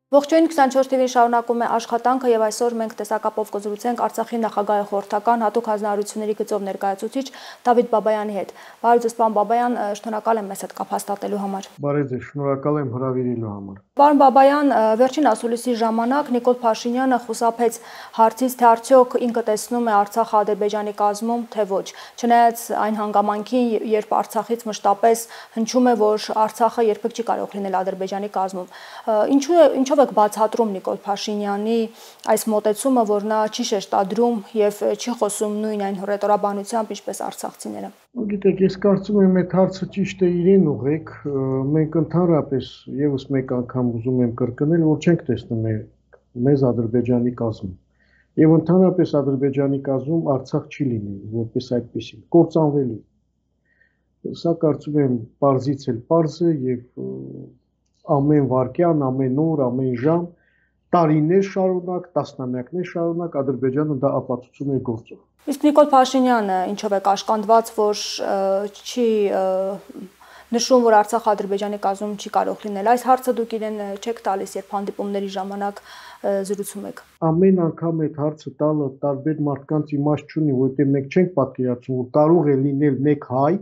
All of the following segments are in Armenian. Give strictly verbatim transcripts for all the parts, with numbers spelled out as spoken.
Ողջույն, քսանչորս թիվին շարունակում է աշխատանքը եւ այսօր մենք տեսակապով կզրուցենք Արցախի նախագահի խորհրդական հատուկ հանձնարարությունների գծով ներկայացուցիչ Դավիթ Բաբայանի հետ։ Բարև ձեզ, պարոն Բաբայան, շնորհակալ եմ մեզ հետ կապ հաստատելու համար։ Բարև ձեզ, շնորհակալ եմ հրավիրելու համար։ Պարոն Բաբայան, վերջին ասուլիսի ժամանակ Նիկոլ Փաշինյանը խուսափեց հարցից, թե արդյոք ինքը տեսնում է Արցախը Ադրբեջանի կազմում, թե ոչ։ Չնայած այն հանգամանքին, երբ Արցախից մշտապես հնչում է, որ Արցախը երբեք չի կարող լինել Ադրբեջանի կազմում։ Ինչու է, ինչով եք բացատրում Նիկոլ Փաշինյանի այս մոտեցումը, որ նա չի շեշտադրում եւ չի խոսում նույն այն հռետորաբանությամբ, ինչպես արցախցիները։ Գիտեք, ես կարծում եմ, այդ հարցը ճիշտ է իրեն ուղեք, մենք ընդհանրապես եւս մեկ անգամ ուզում եմ կրկնել, որ չենք տեսնում մեզ Ադրբեջանի կազմում։ Եվ ընդհանրապես Ադրբեջանի կազմում Արցախ չի լինի, որպես այդպեսին, կործանվելու։ Սա կարծում եմ պարզից էլ պարզ է եւ ամեն վարքյան, ամեն օր, ամեն ժամ, տարիներ շարունակ, տասնամյակներ շարունակ Ադրբեջանը դա ապացուցում է գործով։ Իսկ Նիկոլ Փաշինյանը ինչով է կաշկանդված, որ չի նշում, որ Արցախը Ադրբեջանի կազմում չի կարող լինել։ Այս հարցը դուք իրեն չեք տալիս, երբ հանդիպումների ժամանակ զրուցում եք։ Ամեն անգամ այդ հարցը տալը տարբեր մարդկանց իմաստ չունի, որովհետև մենք չենք պատկերացնում, որ կարող է լինել մեկ հայ,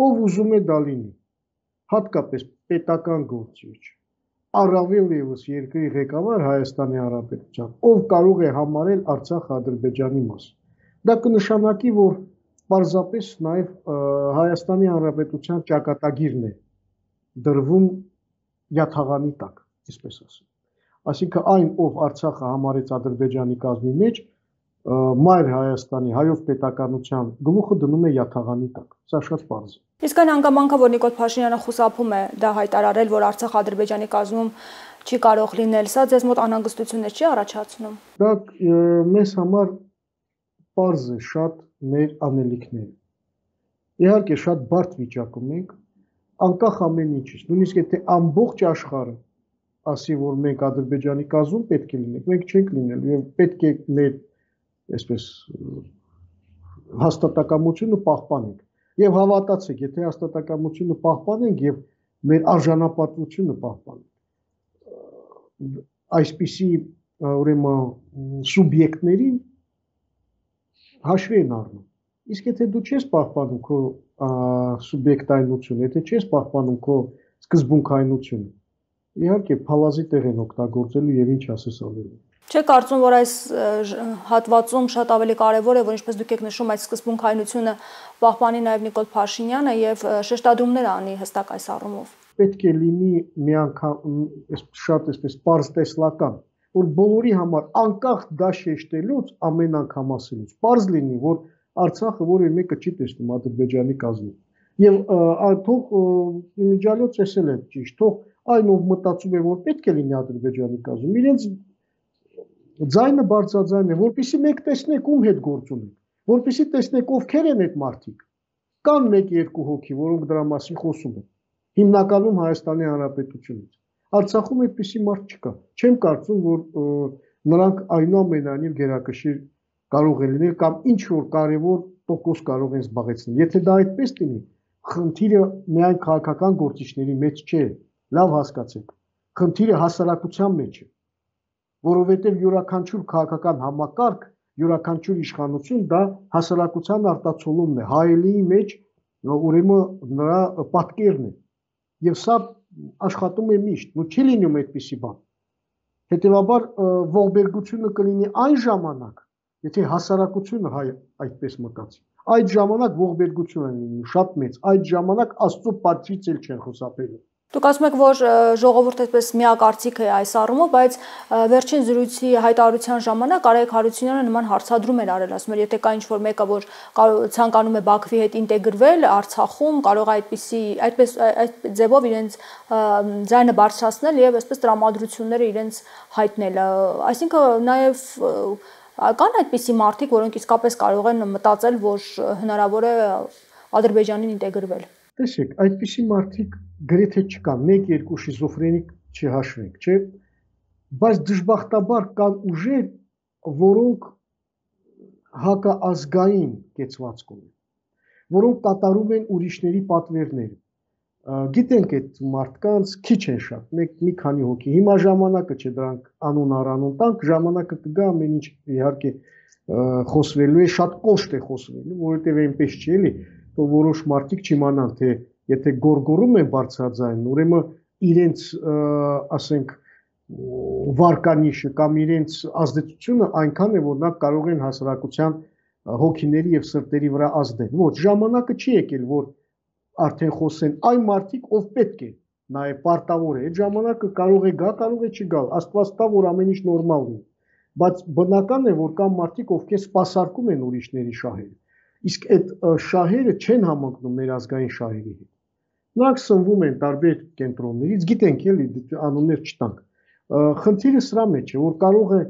ով ուզում է դա լինի, հատկապես պետական գործիչ, առավել ևս երկրի ղեկավար Հայաստանի Հանրապետության, ով կարող է համարել Արցախը Ադրբեջանի մաս։ Դա կնշանակի, որ պարզապես նաև Հայաստանի Հանրապետության ճակատագիրն է դրվում յաթաղանի տակ, այսպես ասեմ։ Այսինքն այն, ով Արցախը համարեց Ադրբեջանի կազմի մեջ, մայր Հայաստանի հայոց պետականության գլուխը դնում է յաթաղանի տակ։ Սա շատ պարզ է։ Իսկ այն հանգամանքը, որ Նիկոլ Փաշինյանը խուսափում է դա հայտարարել, որ Արցախը Ադրբեջանի կազմում չի կարող լինել, սա ձեզ մոտ անհանգստություններ չի առաջացնում։ Դա մեզ համար պարզ է շատ մեր անելիքները։ Իհարկե շատ բարդ վիճակում ենք, անկախ ամեն ինչից, նույնիսկ եթե ամբողջ աշխարհը ասի, որ մենք Ադրբեջանի կազմում պետք է լինենք, մենք չենք լինելու եւ պետք է մեր այսպես հաստատակամությունը պահպանենք։ Եվ հավատացեք, եթե հաստատակամությունը պահպանենք եւ մեր արժանապատվությունը պահպանենք, այսպիսի ուրեմն սուբյեկտներին հաշվի են առնում։ Իսկ եթե դու չես պահպանում քո սուբյեկտայնությունը, եթե չես պահպանում քո սկզբունքայնությունը, իհարկե փալազի տեղ են օգտագործելու եւ ինչ ասես անելու։ Չեք կարծում, որ այս հատվածում շատ ավելի կարևոր է, որ ինչպես դուք եք նշում, այս սկզբունքայնությունը պահպանի նաև Նիկոլ Փաշինյանը եւ շեշտադրումներ անի հստակ այս առումով։ Պետք է լինի մի անգամ շատ այսպես պարզ տեսլական, որ բոլորի համար անկախ դա շեշտելուց ամեն անգամ ասելուց պարզ լինի, որ Արցախը որևէ մեկը չի տեսնում Ադրբեջանի կազմում։ Եվ թող իմիջիալոց էսել է ճիշտ, թող այն ով մտածում է, որ պետք է լինի Ադրբեջանի կազմում, իրենց ձայնը բարձրաձայն է, որպեսզի մեկ տեսնեք ում հետ գործ ունենք, որպեսզի տեսնեք ովքեր են այդ մարդիկ։ Կան մեկ-երկու հոգի, որոնք դրա մասին խոսում են։ Հիմնականում Հայաստանի Հանրապետությունից։ Արցախում այդպիսի մարդ չկա։ Չեմ կարծում, որ նրանք այնուամենայնիվ գերակշիռ կարող է լինել կամ ինչ որ կարևոր տոկոս կարող են զբաղեցնել։ Եթե դա այդպես լինի, խնդիրը միայն քաղաքական գործիչների մեջ չէ, լավ հասկացեք։ Խնդիրը հասարակության մեջ է, որովհետև յուրաքանչյուր քաղաքական համակարգ, յուրաքանչյուր իշխանություն դա հասարակության արտացոլումն է, հայելիի մեջ ուրեմն նրա պատկերն է։ Եվ սա աշխատում է միշտ, ու չի լինում այդպիսի բան։ Հետևաբար ողբերգությունը կլինի այն ժամանակ, եթե հասարակությունը հայ այդպես մտածի, այդ ժամանակ ողբերգություն են լինում շատ մեծ, այդ ժամանակ Աստծո պատվից էլ չեն խուսափելու։ Դուք ասում եք, որ ժողովուրդը այսպես միակարծիք է այս առումով, բայց վերջին զրույցի հայտարարության ժամանակ Արայք Հարությունյանը նման հարցադրում էր արել, ասում էր, եթե կա ինչ-որ մեկը, որ ցանկանում է Բաքվի հետ ինտեգրվել Արցախում, կարող է այդպիսի այդպես այդ ձևով իրենց ձայնը բարձրացնել եւ այսպես տրամադրությունները իրենց հայտնել։ Այսինքն նաեւ կան այդպիսի մարդիկ, որոնք իսկապես կարող են մտածել, որ հնարավոր է Ադրբեջանին ինտեգրվել։ Տեսեք, այդպիսի մարդիկ գրեթե չկան, մեկ-երկու շիզոֆրենիկ չհաշվենք, չէ՞, բայց դժբախտաբար կան ուժեր, որոնք հակաազգային կեցվածք ունեն, որոնք կատարում են ուրիշների պատվերները, Գիտենք այդ մարդկանց քիչ են շատ, մեկ մի քանի հոգի։ Հիմա ժամանակը չէ դրանք անուն առանուն տանք, ժամանակը կգա ամեն ինչ իհարկե խոսվելու է, շատ կոշտ է խոսվելու, որովհետև այնպես չի էլի, որ որոշ մարդիկ չիմանան, թե եթե գորգորում են բարձրաձայն, ուրեմն իրենց, ասենք, վարկանիշը կամ իրենց ազդեցությունը այնքան է, որ նա կարող են հասարակության հոգիների եւ սրտերի վրա ազդել։ Ոչ, ժամանակը չի եկել, որ արդեն խոսեն այն մարդիկ, ով պետք է, նաև պարտավոր է, այդ ժամանակը կարող է գա, կարող է չգալ, Աստված տա, որ ամեն ինչ նորմալ լինի, բայց բնական է, որ կան մարդիկ, ովքեր սպասարկում են ուրիշների շահերը, իսկ այդ շահերը չեն համընկնում մեր ազգային շահերի հետ։ Նրանք սնվում են տարբեր կենտրոններից, գիտենք էլի, անուններ չտանք։ Խնդիրը սրա մեջ է, որ կարող է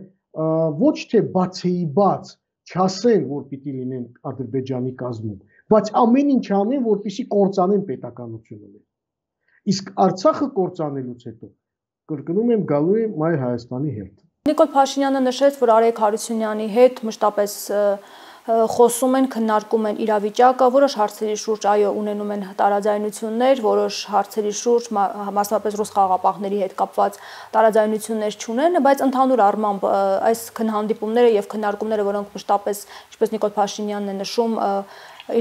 ոչ թե բացեի բաց չասեն, որ պիտի լինեն Ադրբեջանի կազմում, բայց ամեն ինչ անեն, որպեսզի կործանեն պետականությունը։ Իսկ Արցախը կործանելուց հետո, կրկնում եմ, գալու է Մայր Հայաստանի հերթը։ Նիկոլ Փաշինյանը նշեց, որ Արայք Հարությունյանի հետ մշտապես խոսում են, քննարկում են իրավիճակը, որոշ հարցերի շուրջ այո ունենում են տարաձայնություններ, որոշ հարցերի շուրջ մասնավորապես ռուս խաղաղապահների հետ կապված տարաձայնություններ չունեն, բայց ընդհանուր առմամբ այս քննհանդիպումները եւ քննարկումները, որոնք մշտապես, ինչպես Նիկոլ Փաշինյանն է նշում,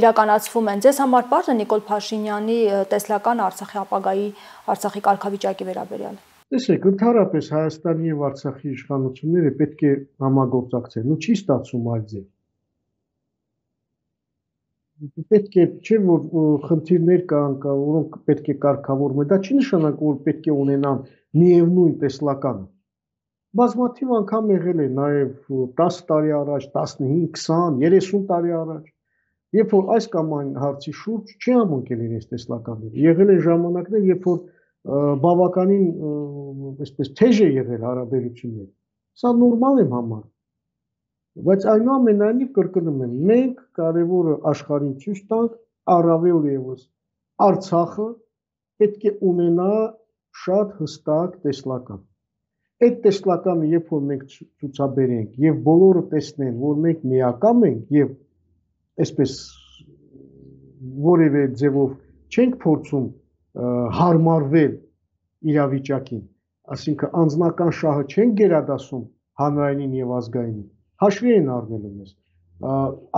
իրականացվում են, ձեզ համար պարզ է Նիկոլ Փաշինյանի տեսլական Արցախի ապագայի, Արցախի կարգավիճակի վերաբերյալ։ Տեսեք, ընդհանրապես Հայաստանի եւ Արցախի իշխանությունները պետք է համագործակցեն, ու չի ստացվում այլ ձև։ Պետք է չէ որ խնդիրներ կան, որոնք պետք է կարգավորվեն, դա չի նշանակում, որ պետք է ունենան միևնույն տեսլականը։ Բազմաթիվ անգամ եղել է նաև տասը տարի առաջ, տասնհինգ, քսան, երեսուն տարի առաջ, երբ որ այս կամ այն հարցի շուրջ չի համընկել իրենց տեսլականները։ Եղել են ժամանակներ, երբ որ բավականին այսպես թեժ է եղել հարաբերությունները։ Սա նորմալ եմ համարում։ Բայց այնուամենայնիվ կրկնում եմ, մենք կարևորը աշխարհին ցույց տանք, առավել ևս Արցախը պետք է ունենա շատ հստակ տեսլական։ Այդ տեսլականը, երբ որ մենք ցուցաբերենք եւ բոլորը տեսնեն, որ մենք միակամ ենք եւ այսպես որևէ ձևով չենք փորձում հարմարվել իրավիճակին, այսինքն անձնական շահը չենք գերադասում հանրայինին եւ ազգայինին, հաշվի են առնելու մեզ։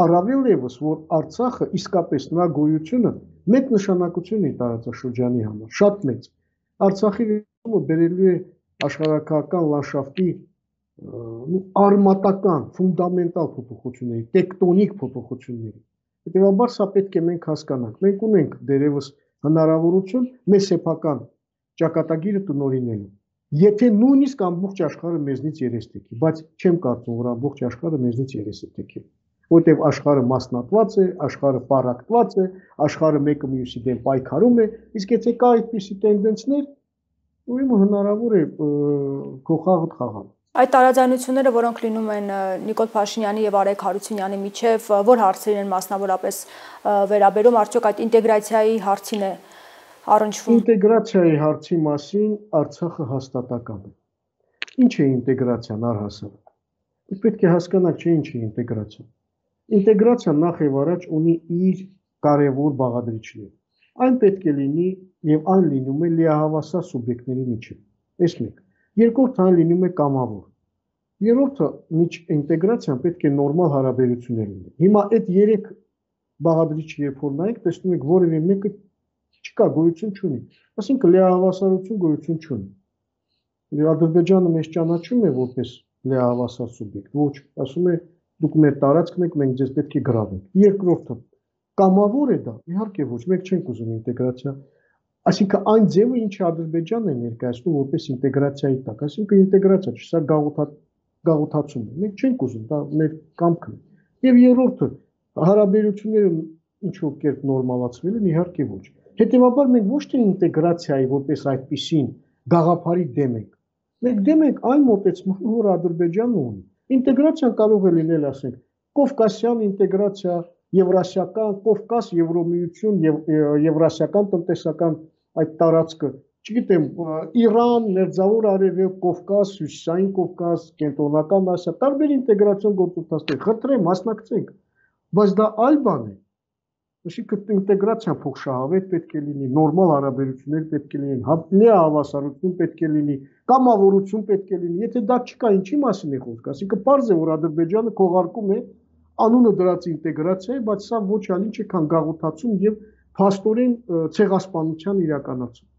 Առավել ևս, որ Արցախը իսկապես նրա գոյությունը մեծ նշանակություն է տարածաշրջանի համար, շատ մեծ։ Արցախի վերաբերումը բերելու է աշխարհակահական լանդշաֆտի արմատական, ֆունդամենտալ փոփոխությունների, տեկտոնիկ փոփոխությունների։ Հետևաբար սա պետք է մենք հասկանանք։ Մենք ունենք դերևս հնարավորություն մեր սեփական ճակատագիրը տնօրինելու։ Եթե նույնիսկ ամբողջ աշխարհը մեզնից երես թեքի, բայց չեմ կարծում, որ ամբողջ աշխարհը մեզնից երես է թեքի, որտեղ աշխարհը մասնատված է, աշխարհը պարակտված է, աշխարհը մեկը մյուսի դեմ պայքարում է, իսկ եթե կա այդպիսի տենդենսներ, ուրեմն հնարավոր է քոխաղտ խաղալ։ Այդ տարաձայնությունները, որոնք լինում են Նիկոլ Փաշինյանի եւ Արայք Հարությունյանի միջև, որ հարցերին են մասնավորապես վերաբերում, արդյոք այդ ինտեգրացիայի հարցին է առնչվում։ Ինտեգրացիայի հարցի մասին Արցախը հաստատակամ է։ Ինչ է ինտեգրացիան առհասարակ։ Դուք պետք է հասկանաք, չէ՞ ինչ է ինտեգրացիան։ Ինտեգրացիան նախ եւ առաջ ունի իր կարևոր բաղադրիչներ։ Այն պետք է լինի եւ այն լինում է լիահավասար սուբյեկտների միջեւ։ Այս մեկ։ Երկրորդը այն լինում է կամավոր։ Երրորդը միջ ինտեգրացիան պետք է նորմալ հարաբերություններ լինի։ Հիմա այդ երեք բաղադրիչը երբ որ նայեք, տեսնում եք որևէ մեկը չկա, գոյություն չունի։ Այսինքն լիահավասարություն գոյություն չունի։ Ադրբեջանը մեզ ճանաչում է որպես լիահավասար սուբյեկտ։ Ոչ, ասում է դուք մեր տարածքն եք, մենք ձեզ պետք է գրավենք։ Երկրորդը կամավոր է դա, իհարկե ոչ, մենք չենք ուզում ինտեգրացիա։ Այսինքն այն ձևը, ինչը Ադրբեջանն է ներկայացնում որպես ինտեգրացիայի տակ, այսինքն ինտեգրացիա չէ, սա գաղութացում է։ Մենք չենք ուզում, դա մեր կամքն է։ Եվ երրորդը հարաբերությունները ինչ որ կերպ նորմալացվել են, իհարկե ոչ։ Հետևաբար մենք ոչ թե ինտեգրացիայի որպես այդպիսին գաղափարի դեմ ենք։ Մենք դեմ ենք այն մոտեցմանը, որ Ադրբեջանը ունի։ Ինտեգրացիան կարող է լինել, ասենք, կովկասյան ինտեգրացիա, եվրասիական, Կովկաս, Եվրոմիություն, եվրասիական տնտեսական այդ տարածքը, չգիտեմ, Իրան, Մերձավոր Արևելք, Կովկաս, Հյուսիսային Կովկաս, Կենտրոնական Ասիա, տարբեր ինտեգրացիոն գործընթացներ, խնդրեմ, մասնակցենք, բայց դա այլ բան է։ Այսինքն ինտեգրացիան փոխշահավետ պետք է լինի, նորմալ հարաբերություններ պետք է լինեն, լիահավասարություն պետք է լինի, կամավորություն պետք է լինի։ Եթե դա չկա, ինչի մասին է խոսքը։ Այսինքն պարզ է, որ Ադրբեջանը քողարկում է անունը դրած ինտեգրացիա, բայց սա ոչ այլ ինչ է, քան գաղութացում եւ փաստորեն ցեղասպանության իրականացում։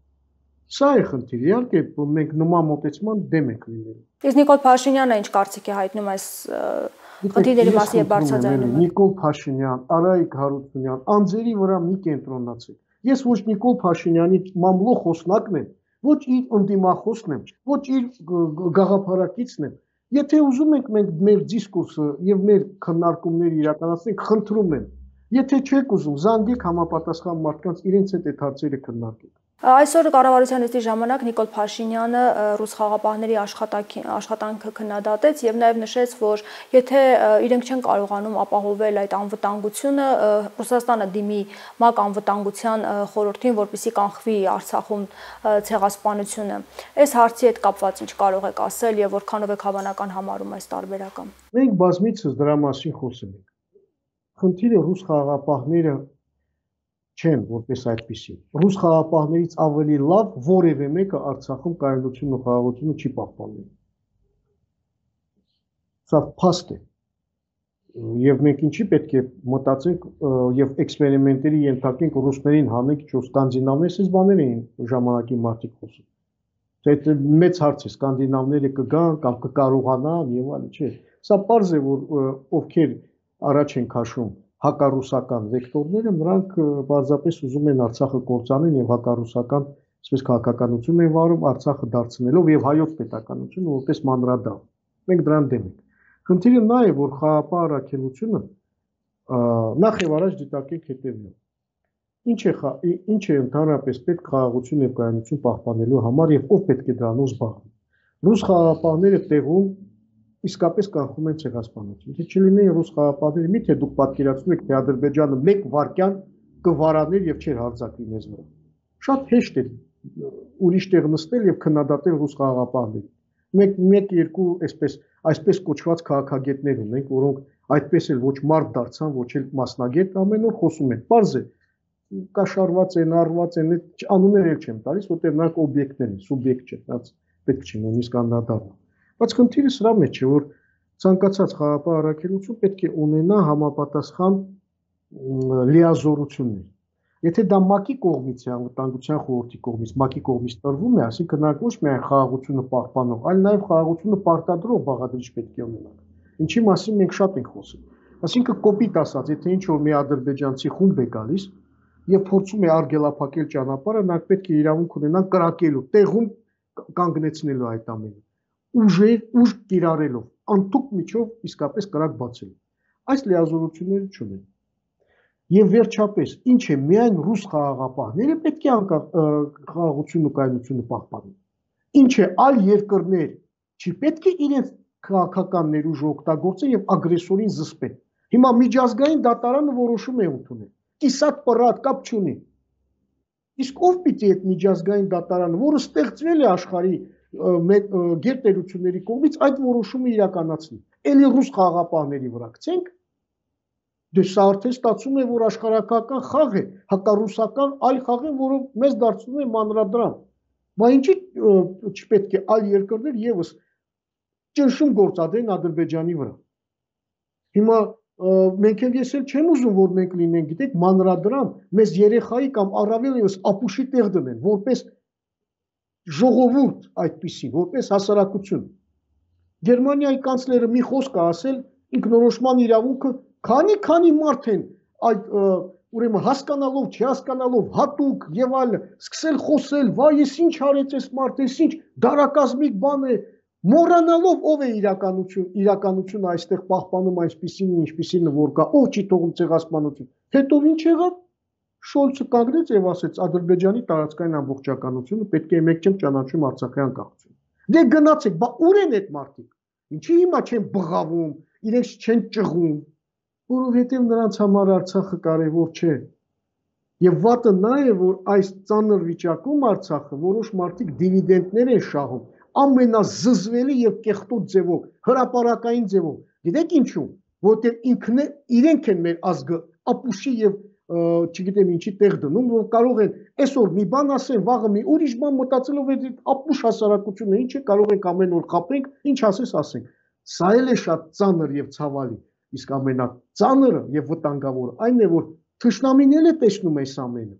Սա է խնդիրը, իհարկե մենք նման մոտեցման դեմ ենք լինելու։ Իսկ Նիկոլ Փաշինյանը ինչ կարծիք է հայտնում այս խնդիրների մասին եւ բարձրաձայնում է։ Նիկոլ Փաշինյան, Արայիկ Հարությունյան, անձերի վրա մի կենտրոնացեք։ Ես ոչ Նիկոլ Փաշինյանի մամլո խոսնակն եմ, ոչ իր ընդդիմախոսն եմ, ոչ իր գաղափարակիցն եմ։ Եթե ուզում ենք մենք մեր դիսկուրսը եւ մեր քննարկումները իրականացնենք, խնդրում եմ։ Եթե չեք ուզում, զանգեք համապատասխան մարդկանց, իրենց հետ այդ հարցերը քննարկեք։ Այսօր կառավարության նիստի ժամանակ Նիկոլ Փաշինյանը ռուս խաղապահների աշխատանքը քննադատեց եւ նաեւ նշեց, որ եթե իրենք չեն կարողանում ապահովել այդ անվտանգությունը, Ռուսաստանը դիմի ՄԱԿ անվտանգության խորհրդին, որպեսզի կանխվի Արցախում ցեղասպանությունը։ Այս հարցի հետ կապված ինչ կարող եք ասել եւ որքանով եք հավանական համարում այս տարբերակը։ Մենք բազմիցս դրա մասին խոսել ենք։ Խնդիրը ռուս խաղապահները չեն որպես այդպիսի։ Ռուս խաղապահներից ավելի լավ որևէ մեկը Արցախում կայունությունն ու խաղաղությունը չի պահպանել։ Սա փաստ է։ Եվ մենք ինչի պետք է մտածենք եւ էքսպերիմենտերի ենթարկենք ռուսներին հանենք, չէ՞ սկանդինավներս էս բաներ էին ժամանակի մարդիկ խոսում։ Դա մեծ հարց է, սկանդինավները կգան կամ կկարողանան եւ այլն, չէ։ Սա պարզ է, որ ովքեր առաջ են քաշում հակառուսական վեկտորները, նրանք բարձրապես ուզում են Արցախը կործանեն եւ հակառուսական, այսպես քաղաքականություն են վարում, Արցախը դարձնելով եւ հայոց պետականությունը որպես մանրադահ։ Մենք դրան դեմ ենք։ Խնդիրը նա է, որ խաղապահ առաքելությունը նախ եւ առաջ դիտարկենք հետեւյալ։ Ինչ է ինչ է ընդհանրապես պետք խաղաղություն եւ կայունություն պահպանելու համար եւ ով պետք է դրանով զբաղվի։ Ռուս խաղապահները տեղում իսկապես կանխում են ցեղասպանություն։ Եթե չլինեին ռուս խաղապահները, միթե դուք պատկերացնում եք, թե Ադրբեջանը մեկ վայրկյան կվարաներ եւ չէր հարձակվի մեզ վրա։ Շատ հեշտ է ուրիշ տեղ նստել եւ քննադատել ռուս խաղապահներին։ Մեկ մեկ երկու այսպես այսպես կոչված քաղաքագետներ ունենք, որոնք այդպես էլ ոչ մարդ դարձան, ոչ էլ մասնագետ, ամեն օր խոսում են։ Պարզ է, կաշառված են, առված են, անուններ էլ չեմ տալիս, որտեղ նրանք օբյեկտներ են, սուբյեկտ չէ, դա պետք չի նույնիսկ անդրադառնալ։ Բայց խնդիրը սրա մեջ է, որ ցանկացած խաղապահ առաքելություն պետք է ունենա համապատասխան լիազորություններ։ Եթե դա ՄԱԿ-ի կողմից է, անվտանգության խորհրդի կողմից, ՄԱԿ-ի կողմից տրվում է, ասինքն նրանք ոչ միայն խաղաղությունը պահպանող, այլ նաև խաղաղությունը պարտադրող բաղադրիչ պետք է ունենան։ Ինչի մասին մենք շատ ենք խոսել։ Այսինքն կոպիտ ասած, եթե ինչ որ մի ադրբեջանցի խումբ է գալիս եւ փորձում է արգելափակել ճանապարհը, նրանք պետք է իրավունք ունենան կրակելու, տեղում կանգնեցնելու այդ ամենը։ Ուժեր, ուժ կիրառելով, անթուք միջով իսկապես կրակ բացելու։ Այս լիազորությունները չունեն։ Եվ վերջապես, ինչ է, միայն ռուս խաղաղապահները պետք է խաղաղությունը ու կայունությունը պահպանեն։ Ինչ է, այլ երկրներ չի պետք է իրենց քաղաքական ներուժը օգտագործեն եւ ագրեսորին զսպեն։ Հիմա միջազգային դատարանը որոշում է ընդունել։ Կիսատ պռատ կապ չունի։ Իսկ ով պիտի այդ միջազգային դատարանը, որը ստեղծվել է աշխարհի գերտերությունների կողմից, այդ որոշումը իրականացնի։ Էլի ռուս խաղաղապահների վրա գցենք։ Դե սա արդեն ստացվում է, որ աշխարհական խաղ է, հակառուսական այլ խաղ է, որը մեզ դարձնում է մանրադրամ։ Բա ինչի չպետք է այլ երկրներ եւս ճնշում գործադրեն Ադրբեջանի վրա։ Հիմա մենք էլ ես էլ չեմ ուզում, որ մենք լինենք, գիտեք, մանրադրամ, մեզ երեխայի կամ առավել եւս ապուշի տեղ դնեն, որպես ժողովուրդ այդպիսի, որպես հասարակություն։ Գերմանիայի կանցլերը մի խոսք է ասել, ինքնորոշման իրավունքը քանի-քանի մարդ են այդ ուրեմն հասկանալով, չհասկանալով, հատուկ եւ այլ սկսել խոսել, վայ, ես ինչ արեց այս մարդը, ես ինչ դարակազմիկ բան է, մոռանալով ով է իրականություն, իրականությունը այստեղ պահպանում այսպիսին, ինչպիսին որ կա, ով չի թողում ցեղասպանություն։ Հետո ինչ եղավ։ Շոլցը կանգնեց եւ ասեց Ադրբեջանի տարածքային ամբողջականությունը պետք է մեկ չեմ ճանաչում Արցախի անկախություն։ Դե գնացեք, բա ուր են այդ մարդիկ։ Ինչի հիմա չեն բղավում, իրենց չեն ճղում, որովհետեւ նրանց համար Արցախը կարեւոր չէ։ Եվ վատը նա է, որ այս ծանր վիճակում Արցախը որոշ մարդիկ դիվիդենդներ են շահում, ամենազզվելի եւ կեղտոտ ձևով, հրապարակային ձևով։ Գիտեք ինչու՞։ Որտեղ ինքն իրենք են մեր ազգը ապուշի եւ չգիտեմ ինչի տեղ դնում, որ կարող են այսօր մի բան ասեն, վաղը մի ուրիշ բան մտածելով այդ ապուշ հասարակությունը ինչ է, կարող ենք ամեն օր խաբենք, ինչ ասես ասենք։ Սա էլ է շատ ծանր եւ ցավալի, իսկ ամենածանրը եւ վտանգավորը այն է, որ թշնամին էլ է տեսնում այս ամենը։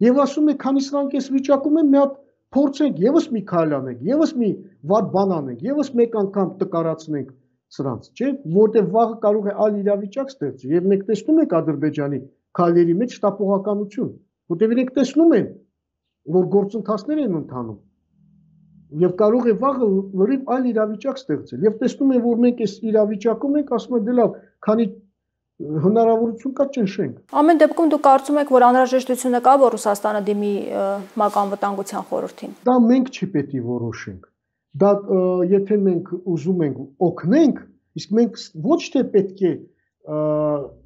Եվ ասում է, քանի սրանք այս վիճակում են, մի հատ փորձենք եւս մի քայլ անենք, եւս մի վատ բան անենք, եւս մեկ անգամ տկարացնենք սրանց, չէ՞, որտեղ վաղը կարող է այլ իրավիճակ ստեղծի։ Եվ մենք տեսնում ենք Ադրբեջանի քայլերի մեջ շտապողականություն, որտեղ իրենք տեսնում են, որ գործընթացներ են ընթանում եւ կարող է վաղը լրիվ այլ իրավիճակ ստեղծել եւ տեսնում են, որ մենք այս իրավիճակում ենք, ասում են դե լավ, քանի հնարավորություն կա ճնշենք։ Ամեն դեպքում դուք կարծում եք, որ անհրաժեշտությունը կա, որ Ռուսաստանը դիմի ՄԱԿ-Անվտանգության խորհրդին։ Դա մենք չի պետք է որոշենք։ Դա եթե մենք ուզում ենք օգնենք, իսկ մենք ոչ թե պետք է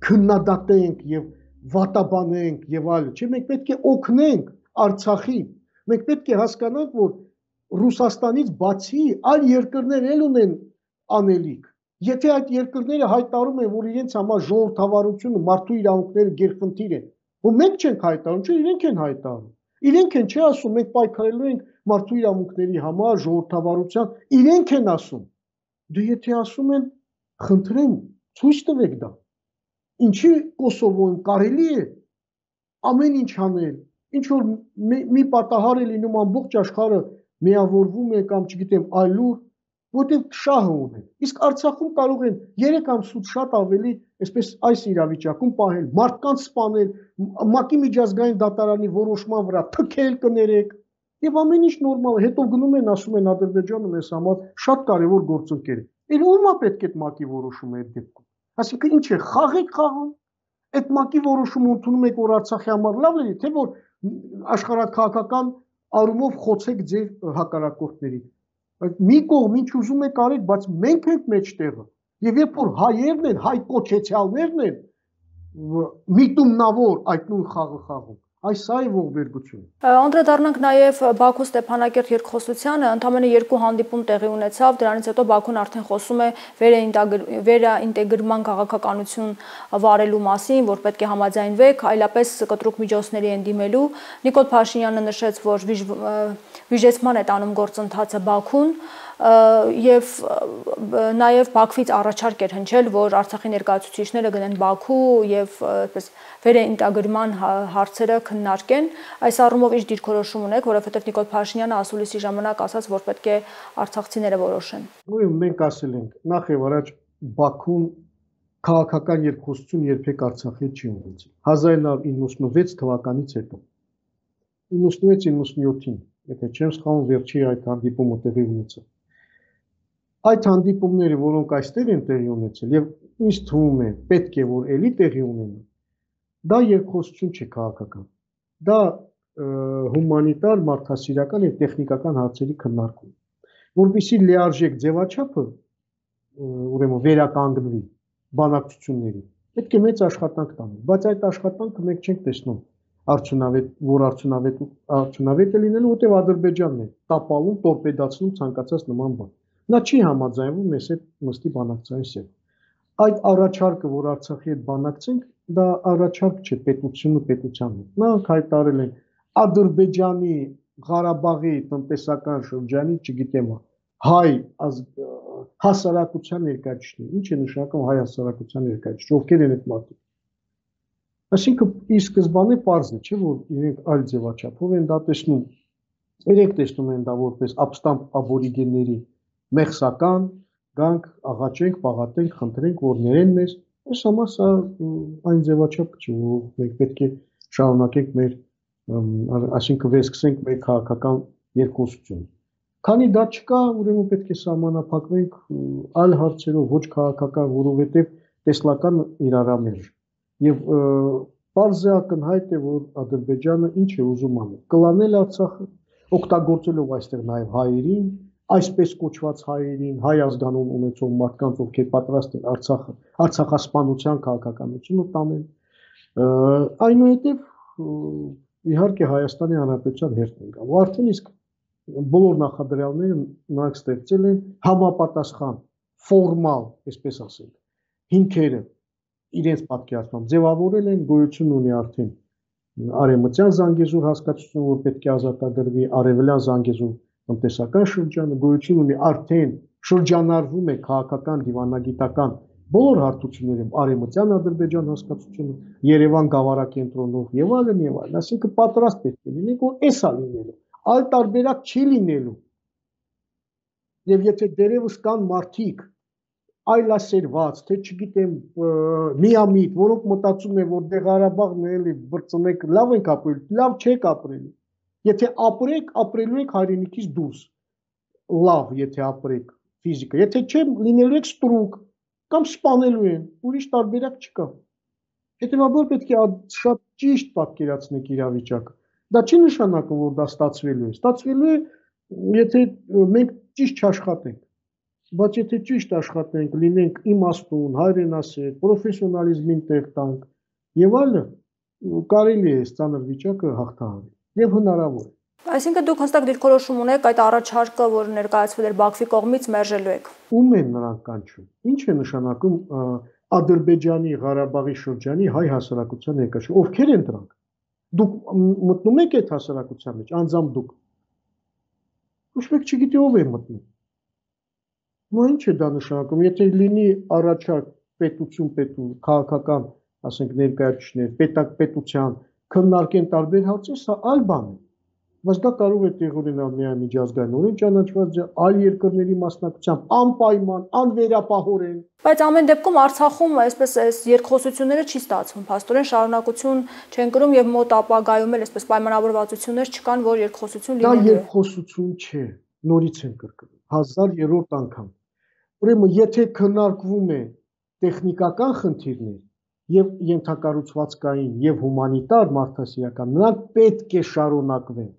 քննադատենք եւ վատաբանենք եւ այլն, չէ, մենք պետք է օգնենք Արցախին։ Մենք պետք է հասկանանք, որ Ռուսաստանից բացի այլ երկրներ էլ ունեն անելիք։ Եթե այդ երկրները հայտարարում են, որ իրենց համար ժողովրդավարությունը, մարդու իրավունքները գերխնդիր են, որ մենք չենք հայտարարում, չէ, իրենք են հայտարարում։ Իրենք են, չէ, ասում, մենք պայքարելու ենք մարդու իրավունքների համար, ժողովրդավարության, իրենք են ասում։ Դե եթե ասում են, խնդրեմ, ցույց տվեք դա։ Ինչի Կոսովոյում կարելի է ամեն ինչ անել, ինչ որ մի պատահար է լինում ամբողջ աշխարհը միավորվում է կամ չգիտեմ այլուր, որտեղ շահը ունեն։ Իսկ Արցախում կարող են երեք ամսուց շատ ավելի, այսպես այս իրավիճակում պահել, մարդկանց սպանել, ՄԱԿ-ի միջազգային դատարանի որոշման վրա թքել կներեք, եւ ամեն ինչ նորմալ է։ Հետո գնում են, ասում են Ադրբեջանը մեզ համար շատ կարեւոր գործընկեր է։ Էլ ո՞ւմ է պետք է այդ ՄԱԿ-ի որոշումը այդ դեպքում։ Այսինքն ինչ է, խաղ եք խաղում։ Այդ ՄԱԿ-ի որոշումը ընդունում եք, որ Արցախի համար լավ է, թե որ աշխարհաքաղաքական առումով խոցեք ձեր հակառակորդների։ Մի կողմ ինչ ուզում եք արեք, բայց մենք ենք մեջտեղը։ Եվ երբ որ հայերն են, հայ կոչեցյալներն են, միտումնավոր այդ նույն խաղը խաղում, այս սա է ողբերգությունը։ Անդրադառնանք նաև Բաքու Ստեփանակերտ երկխոսությանը, ընդամենը երկու հանդիպում տեղի ունեցավ, դրանից հետո Բաքուն արդեն խոսում է վերաինտեգրման քաղաքականություն վարելու մասին, որ պետք է համաձայնվեք, այլապես կտրուկ միջոցների են դիմելու։ Նիկոլ Փաշինյանը նշեց, որ վիժեցման է տանում գործընթացը Բաքուն, եւ նաեւ Բաքվից առաջարկ էր հնչել, որ Արցախի ներկայացուցիչները գնեն Բաքու եւ այսպես վերաինտեգրման հարցերը քննարկեն։ Այս առումով ինչ դիրքորոշում ունեք, որովհետեւ Նիկոլ Փաշինյանը ասուլիսի ժամանակ ասաց, որ պետք է արցախցիները որոշեն։ Ուրեմն մենք ասել ենք, նախ եւ առաջ Բաքուն քաղաքական երկխոսություն երբեք Արցախի չի ունեցել։ հազար նավը իննսունվեց թվականից հետո։ իննսունվեց իննսունյոթին, եթե չեմ սխալվում, վերջի այդ հանդիպումը տեղի ունեցավ։ Այդ հանդիպումները, որոնք այստեղ են տեղի ունեցել եւ ինձ թվում է պետք է որ էլի տեղի ունենան, դա երկխոսություն չէ քաղաքական։ Դա հումանիտար, մարդասիրական եւ տեխնիկական հարցերի քննարկում, որովհետեւ լիարժեք ձևաչափը ուրեմն վերականգնվի բանակցությունների, պետք է մեծ աշխատանք տանել, բայց այդ աշխատանքը մենք չենք տեսնում արդյունավետ, որ արդյունավետ արդյունավետ է լինելու, որտեղ Ադրբեջանն է տապալում, տորպեդացնում ցանկացած նման բան։ Նա չի համաձայնվում մեզ հետ նստի բանակցային սեղան։ Այդ առաջարկը, որ Արցախի հետ բանակցենք, դա առաջարկ չէ պետությունը պետության հետ։ Նրանք հայտարարել են Ադրբեջանի Ղարաբաղի տնտեսական շրջանի, չգիտեմ, հայ հասարակության ներկայացուցիչներ, ինչ է նշանակում հայ հասարակության ներկայացուցիչ, ովքեր են այդ մարդիկ։ Այսինքն ի սկզբանե պարզ է, չէ, որ իրենք այլ ձևաչափով են դա տեսնում։ Իրենք տեսնում են դա որպես ապստամբ աբորիգենների մեղսական, գանք, աղաչենք, պաղատենք, խնդրենք, որ ներեն մեզ։ Այս համար սա այն ձևաչափը չէ, որ մենք պետք է շարունակենք մեր, այսինքն վերսկսենք մեր քաղաքական երկխոսությունը։ Քանի դա չկա, ուրեմն պետք է սահմանափակվենք այլ հարցերով, ոչ քաղաքական, որովհետև տեսլական իրարամերժ։ Եվ պարզ է ակնհայտ է, որ Ադրբեջանը ինչ է ուզում անել, կլանել Արցախը, օգտագործելով այստեղ նաև հայերին, այսպես կոչված հայերին, հայ ազգանուն ունեցող մարդկանց, ովքեր պատրաստ են Արցախը, Արցախասպանության քաղաքականությունը տանել։ Այնուհետև իհարկե Հայաստանի Հանրապետության հերթ են գալու։ Արդեն իսկ բոլոր նախադրյալները նրանք ստեղծել են համապատասխան, ֆորմալ, այսպես ասենք, հիմքերը իրենց պատկերացմամբ ձևավորել են, գոյություն ունի արդեն արևմտյան Զանգեզուր հասկացությունը, որ պետք է ազատագրվի, արևելյան Զանգեզուր տնտեսական շրջանը, գոյություն ունի արդեն շրջանառվում է քաղաքական դիվանագիտական բոլոր հարթություններում արևմտյան Ադրբեջան հասկացությունը, Երևան գավառակենտրոնով եւ այլն եւ այլն, այսինքն պատրաստ պետք է լինենք, որ էսա լինելու, այլ տարբերակ չի լինելու։ Եվ եթե դերևս կան մարդիկ այլասերված, թե չգիտեմ, միամիտ, որոնք մտածում են, որ դե Ղարաբաղն էլի բրծնեք, լավ ենք ապրել, լավ չեք ապրելու։ Եթե ապրեք, ապրելու եք հայրենիքից դուրս։ Լավ, եթե ապրեք ֆիզիկա, եթե չէ, լինելու եք ստրուկ կամ սպանելու են, ուրիշ տարբերակ չկա։ Հետևաբար պետք է շատ ճիշտ պատկերացնեք իրավիճակը։ Դա չի նշանակում, որ դա ստացվելու է։ Ստացվելու է, եթե մենք ճիշտ չաշխատենք։ Բայց եթե ճիշտ աշխատենք, լինենք իմաստուն, հայրենասեր, պրոֆեսիոնալիզմին տեղ տանք եւ այլն, կարելի է այս ծանր վիճակը հաղթահարել եւ հնարավոր է։ Այսինքն դուք հստակ դիրքորոշում ունեք այդ առաջարկը, որ ներկայացվել էր Բաքվի կողմից, մերժելու եք։ Ում են նրանք կանչում։ Ինչ է նշանակում Ադրբեջանի, Ղարաբաղի շրջանի հայ հասարակության ներկայացում։ Ովքեր են դրանք։ Դուք մտնում եք այդ հասարակության մեջ, անձամբ դուք։ Ոչ մեկ չգիտի ով է մտնում։ Ու ինչ է դա նշանակում, եթե լինի առաջարկ պետություն, պետություն, քաղաքական, ասենք ներկայացուցիչներ, պետակ պետության քննարկեն տարբեր հարցեր, սա այլ բան է։ Բայց դա կարող է տեղ ունենալ միայն միջազգայինորեն ճանաչված այլ երկրների մասնակցությամբ, անպայման, անվերապահորեն։ Բայց ամեն դեպքում Արցախում այսպես այս երկխոսությունները չի ստացվում, փաստորեն շարունակություն չեն կրում եւ մոտ ապագայում էլ այսպես պայմանավորվածություններ չկան, որ երկխոսություն լինելու է։ Դա երկխոսություն չէ, նորից են կրկնում, հազար երրորդ անգամ։ Ուրեմն, եթե քննարկվում է տեխնիկական խնդիրներ եւ ենթակառուցվածքային եւ հումանիտար մարդասիրական, նրանք պետք է շարունակվեն։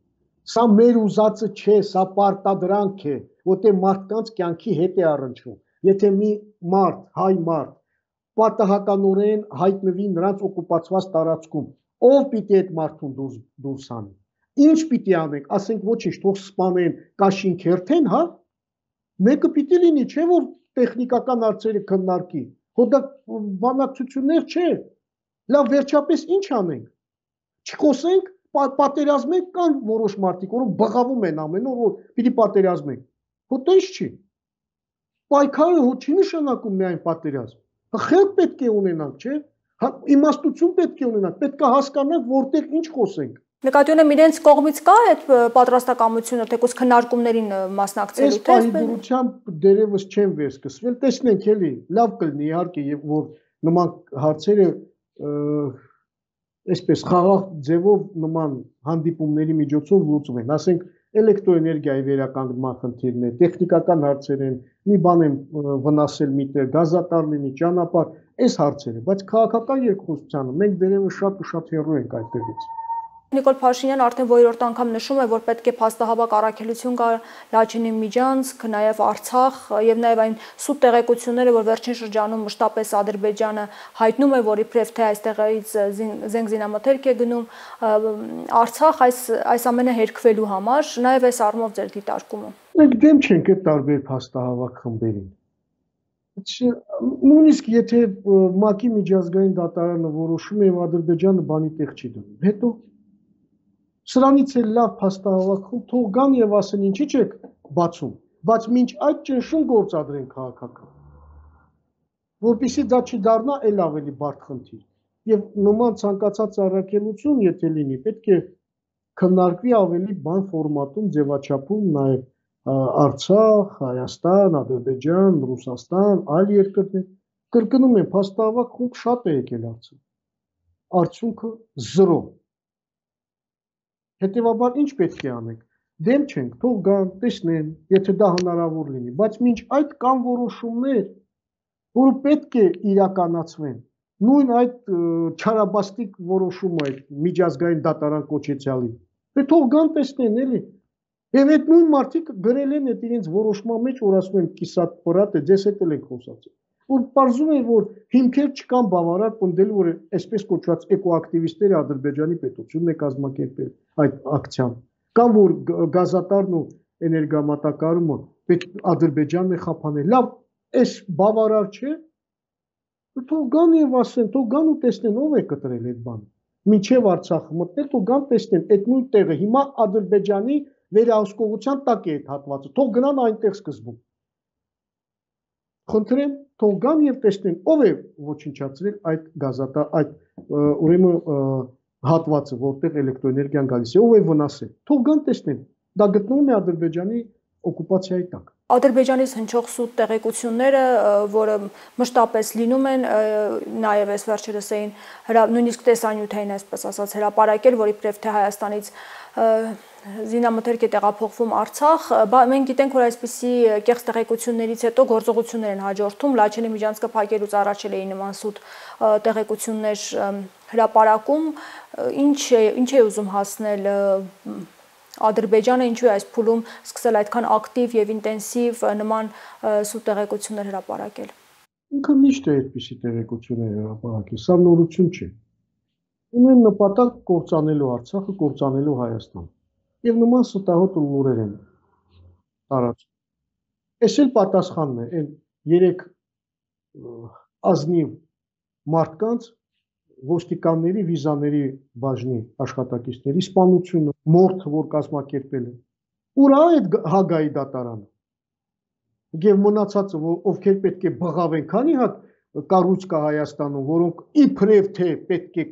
Սա մեր ուզածը չէ, սա պարտադրանք է, որտեղ մարդկանց կյանքի հետ է առնչվում։ Եթե մի մարդ, հայ մարդ, պատահականորեն հայտնվի նրանց օկուպացված տարածքում, ով պիտի այդ մարդուն դուրս դուրս անի։ Ինչ պիտի անենք, ասենք ոչինչ, թող սպանեն, կաշին քերթեն, հա։ Մեկը պիտի լինի, չէ՞ որ տեխնիկական հարցերը քննարկի։ Հո դա բանակցություններ չէ։ Լավ, վերջապես ինչ անենք։ Չխոսենք, պատերազմենք, կան որոշ մարդիկ, որոնք բղավում են ամեն օր, որ պիտի պատերազմենք։ Հո դա ինչ չի։ Պայքարը հո չի նշանակում միայն պատերազմ։ Խելք պետք է ունենանք, չէ՞։ Իմաստություն պետք է ունենանք, պետք է հասկանանք, որտեղ ինչ խոսենք։ Նկատի ունեմ իրենց կողմից կա այդ պատրաստակամությունը, թեկուզ քննարկումներին մասնակցելու, թե այս պայմանությամբ դերևս չեն վերսկսվել, տեսնենք էլի, լավ կլինի իհարկե, եւ որ նման հարցերը այսպես խաղաղ ձևով նման հանդիպումների միջոցով լուծվեն, ասենք էլեկտրոէներգիայի վերականգնման խնդիրներ, տեխնիկական հարցեր են, մի բան են վնասել միտեղ, գազատար լինի, ճանապարհ, այս հարցերը, բայց քաղաքական երկխոսությանը մենք դերևս շատ ու շատ հեռու ենք այդտեղից։ Նիկոլ Փաշինյանը արդեն որորդ անգամ նշում է, որ պետք է փաստահավաք առաքելություն կա Լաչինի Միջանցք, նաև Արցախ եւ նաև այն սուտ տեղեկությունները, որ վերջին շրջանում մշտապես Ադրբեջանը հայտնում է, որ իբրև թե այստեղից զենք զինամթերք է գնում Արցախ այս այս ամենը հերքվելու համար, նաև այս առումով ձեր դիտարկումը։ Մենք դեմ չենք այդ տարբեր փաստահավաք խմբերին։ Նույնիսկ եթե ՄԱԿ-ի միջազգային դատարանը որոշում է եւ Ադրբեջանը բանի տեղ չի դնում, հետո սրանից էլ լավ փաստահավաքում թող գան եւ ասեն ինչի՞ չեք բացում, բայց մինչ այդ ճնշում գործադրեն քաղաքական, որպեսզի դա չդառնա էլ ավելի բարդ խնդիր։ Եվ նման ցանկացած առաքելություն, եթե լինի, պետք է քննարկվի ավելի բան ֆորմատում, ձևաչափում, նաեւ Արցախ, Հայաստան, Ադրբեջան, Ռուսաստան, այլ երկրներ։ Կրկնում եմ, փաստահավաք խումբ շատ է եկել Արցախ։ Արդյունքը զրո։ Հետևաբար ինչ պետք է անենք։ Դեմ չենք, թող գան, տեսնեն, եթե դա հնարավոր լինի, բայց մինչ այդ կան որոշումներ, որը պետք է իրականացվեն։ Նույն այդ չարաբաստիկ որոշումը այդ միջազգային դատարան կոչեցյալի։ Դե թող գան տեսնեն, էլի։ Եվ այդ նույն մարդիկ գրել են այդ իրենց որոշման մեջ, որ ասում են կիսատ պրատ է, ձեզ հետ էլ ենք խոսացել։ Որ պարզում է, որ հիմքեր չկան բավարար պնդելու, որ այսպես կոչված էկոակտիվիստները Ադրբեջանի պետությունն է կազմակերպել այդ ակցիան։ Կամ որ գազատարն ու էներգամատակարարումը պետք Ադրբեջանն է խափանել։ Լավ, այս բավարար չէ։ Թող գան եւ ասեն, թող գան ու տեսնեն ով է կտրել այդ բանը։ Մինչև Արցախը մտնել, թող գան տեսնեն այդ նույն տեղը հիմա Ադրբեջանի վերահսկողության տակ է այդ հատվածը։ Թող գնան այնտեղ սկզբում։ Խնդրեմ, թող գան եւ տեսնեն ով է ոչնչացրել այդ գազատա, այդ ուրեմն հատվածը, որտեղ էլեկտրոէներգիան գալիս է, ով է վնասել։ Թող գան տեսնեն։ Դա գտնվում է Ադրբեջանի օկուպացիայի տակ։ Ադրբեջանից հնչող սուտ տեղեկությունները, որը մշտապես լինում են, նաև այս վերջերս էին նույնիսկ տեսանյութային, այսպես ասած, հրապարակել, որի իբրև թե Հայաստանից զինամթերք է տեղափոխվում Արցախ, մենք գիտենք, որ այսպիսի կեղծ տեղեկություններից հետո գործողություններ են հաջորդում, Լաչինի միջանցքը փակելուց առաջ էլ էին նման սուտ տեղեկություններ հրապարակում, ինչ է, ինչ է ուզում հասնել Ադրբեջանը, ինչու է այս փուլում սկսել այդքան ակտիվ եւ ինտենսիվ նման սուտ տեղեկություններ հրապարակել։ Ինքը միշտ է այդպիսի տեղեկություններ հրապարակել, սա նորություն չէ։ Ունեն նպատակ կործանելու Արցախը, կործանելու Հայաստան։ Եվ նման ստահոդ լուրեր են տարածում։ Էս էլ պատասխանն է այն երեք ազնիվ մարդկանց, ոստիկանների, վիզաների բաժնի աշխատակիցների սպանությունը, մորթը, որ կազմակերպել է։ Ուր է այդ Հագայի դատարանը։ Եվ մնացածը, ովքեր պետք է բղավեն, քանի հատ կառույց կա Հայաստանում, որոնք իբրև թե պետք է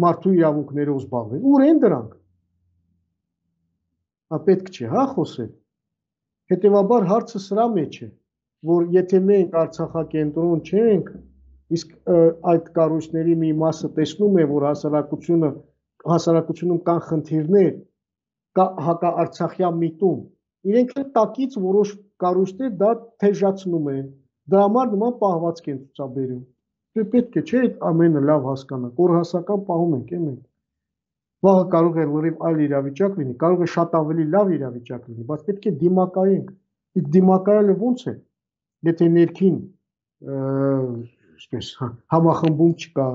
մարդու իրավունքներով զբաղվեն։ Ուր են դրանք։ Պետք չէ, հա, խոսել։ Հետևաբար հարցը սրա մեջ է, որ եթե մենք Արցախակենտրոն չենք, իսկ այդ կառույցների մի մասը տեսնում է, որ հասարակությունը հասարակությունում կան խնդիրներ, կա հակաարցախյան միտում, իրենք էլ տակից որոշ կառույցներ դա թեժացնում են, դրա համար նման պահվածք են ցուցաբերում։ Պետք է չէ ամենը լավ հասկանանք, որ հասական պահում ենք, է մենք։ Վաղը կարող է լրիվ այլ իրավիճակ լինի, կարող է շատ ավելի լավ իրավիճակ լինի, բայց պետք է դիմակայենք։ Իսկ դիմակայելը ոնց է, եթե ներքին այսպես համախմբում չկա,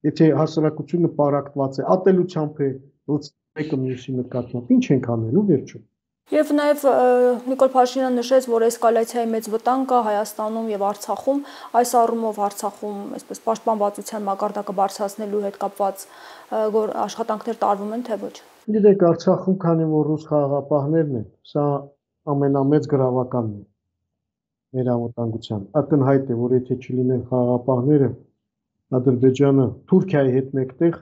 եթե հասարակությունը պարակտված է, ատելությամբ է, ոնց մեկը մյուսի նկատմամբ, ինչ ենք անելու վերջում։ Եվ նաև Նիկոլ Փաշինյանը նշեց, որ էսկալացիայի մեծ վտանգ կա Հայաստանում եւ Արցախում, այս առումով Արցախում այսպես պաշտպանվածության մակարդակը բարձրացնելու հետ կապված աշխատանքներ տարվում են, թե ոչ։ Գիտեք, Արցախում քանի որ ռուս խաղաղապահներն են, սա ամենամեծ գրավականն է մեր անվտանգության։ Ակնհայտ է, որ եթե չլինեն խաղաղապահները, Ադրբեջանը Թուրքիայի հետ մեկտեղ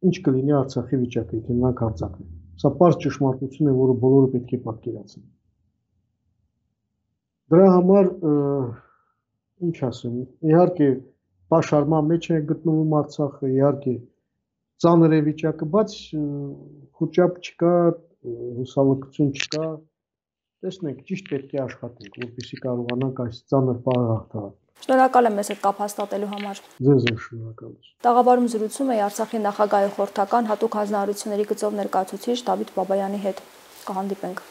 ինչ կլինի Արցախի վիճակը, եթե նրանք հարձակվեն։ Սա պարզ ճշմարտություն է, որը բոլորը պետք է պատկերացնեն։ Դրա համար ինչ ասեմ, իհարկե պաշարման մեջ է գտնվում Արցախը, իհարկե ծանր է վիճակը, բայց խոճապ չկա, հուսալքություն չկա։ Տեսնենք, ճիշտ պետք է աշխատենք, որպեսզի կարողանանք այս ծանր պահը հաղթահարել։ Շնորհակալ եմ մեզ հետ կապ հաստատելու համար։ Ձեզ եմ շնորհակալություն։ Տաղավարում զրուցում էի Արցախի նախագահի խորհրդական հատուկ հանձնարարությունների գծով ներկայացուցիչ Դավիթ Բաբայանի հետ։ Կհանդիպենք։